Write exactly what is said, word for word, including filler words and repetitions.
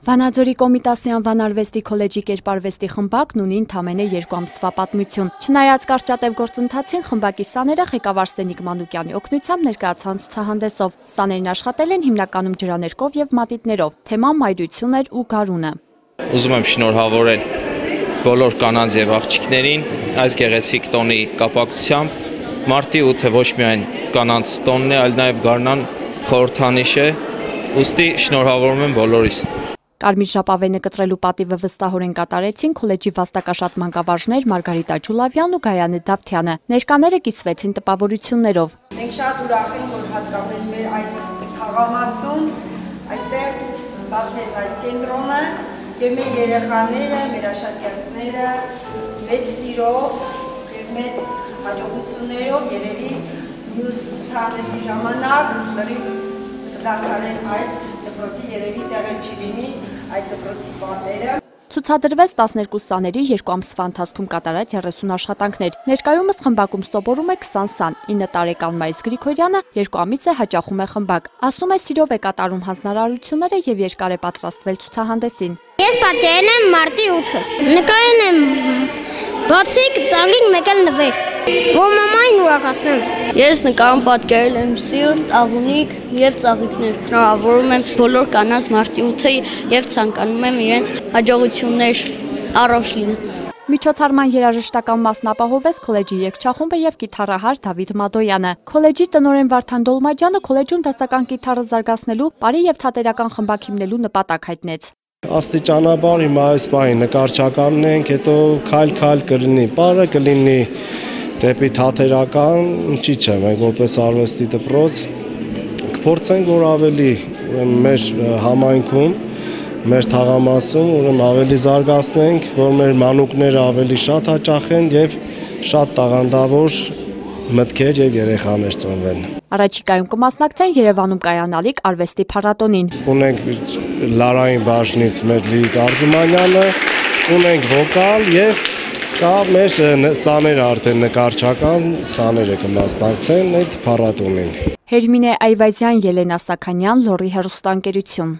Վանաձորի Կոմիտասի անվան արվեստի քոլեջի կերպարվեստի խմբակն ունի ընդամենը երկու ամսվա պատմություն։ Չնայած կարճատև գործընթացին, խմբակի սաները ղեկավար Սենիկ Մանուկյանի օգնությամբ ներկայացան ցուցահանդեսով։ Սաներն աշխատել են հիմնականում ջրաներկով եւ մատիտներով։ Թեման մայրություն էր ու գարունը։ Ուզում եմ շնորհավորել բոլոր կանանց եւ աղջիկներին այս գեղեցիկ տոնի կապակցությամբ։ Մարտի ութը ոչ միայն կանանց տոնն է, այլ նաեւ գարնան խորհրդանիշ է։ Ուստի շնորհավորում եմ բոլորիս։ Կարմիր ժապավենը կտրելու պատիվը վստահորեն կատարեցին քոլեջի վաստակաշատ մանկավարժներ Մարգարիտա Ջուլավյանն ու Գայանե Դավթյանը։ Ներկաները կիսվեցին տպավորություններով։ Մենք շատ ուրախ ենք, որ հատկապես մեր այս խաղամասում այստեղ բացվեց այս կենտրոնը եւ մեր երեխաները, մեր աշակերտները մեծ սիրով եւ մեծ հաջողություններով երևի մյուս ցուցահանդեսի ժամանակ լրիվ կզարգանեն այս դպրոցի երևի տեղեր չի լինի այս դպրոցի պատերը։ Ցուցադրվեց տասներկու սաների երկու ամսվա ընթացքում կատարած երեսուն աշխատանքներ։ Ներկայումս խմբակում սովորում է քսան սան, ինը տարեկան Մայիս Գրիգորյանը երկու ամիս է հաճախում է խմբակ։ Ասում է սիրով է կատարում հանձնարարությունները եւ երկար է պատրաստվել ցուցահանդեսին։ Ես պատկերել եմ մարտի ութը։ Նկարել եմ բացիկ, ծաղիկ, մեկ էլ նվեր։ Որ մամային ուրախացնեմ։ Ես նկարում պատկերել եմ սիրտ, աղունիկ եւ ծաղիկներ։ Շնորհավորում եմ բոլոր կանանց մարտի ութը եւ ցանկանում եմ իրենց հաջողություններ առողջ լինեն։ Միջոցառման երաժշտական մասն ապահովեց քոլեջի երգչախումբը եւ կիթառահար Դավիթ Մադոյանը։ Քոլեջի տնօրեն Վարդան Դոլմաջյանը քոլեջում դասական կիթառը զարգացնելու, բարի եւ թատերական խմբակ հիմնելու նպատակ հայտնեց։ Աստիճանաբար հիմա այս պահին նկարչականն ենք, հետո քայլ-քայլ կլինի, բարը կլինի դեպի թատերական, ինչի՞ չէ, մենք որպես արվեստի դպրոց կփորձենք, որ ավելի մեր համայնքում, մեր թաղամասում ուրեմն ավելի զարգացնենք, որ մեր մանուկները ավելի շատ հաճախեն եւ շատ տաղանդավոր մտքեր եւ երեխաներ ծնվեն։ Առաջիկայում կմասնակցեն Երևանում կայանալիք արվեստի փառատոնին։ Ունենք լարային բաժնից մեր Լիլիթ Արզումանյանը, ունենք վոկալ եւ կա մեր սաներ արդեն նկարչական սաները կմասնակցեն այդ փառատոնին։ Հերմինե Այվազյան, Ելենա Սաքանյան, Լոռի հեռուստաընկերություն։